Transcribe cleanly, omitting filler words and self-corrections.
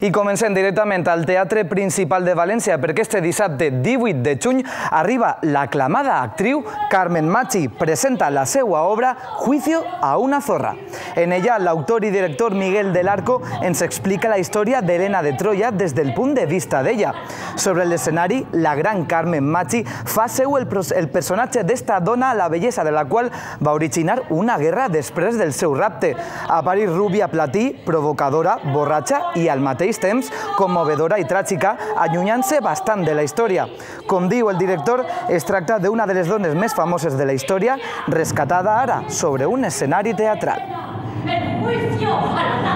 I comencem directament al Teatre Principal de València perquè este dissabte 18 de juny arriba l'aclamada actriu Carmen Machi. Presenta la seva obra Juicio a una zorra. En ella, l'autor i director Miguel del Arco ens explica la història d'Helena de Troia des del punt de vista d'ella. Sobre l'escenari, la gran Carmen Machi fa seu el personatge d'esta dona, la bellesa de la qual va originar una guerra després del seu rapte. Apareix rúbia platí, provocadora, borratxa i al mateix temps commovedora i tràgica, allunyant-se bastant de la història. Com diu el director, es tracta d'una de les dones més famoses de la història, rescatada ara sobre un escenari teatral. El juicio a la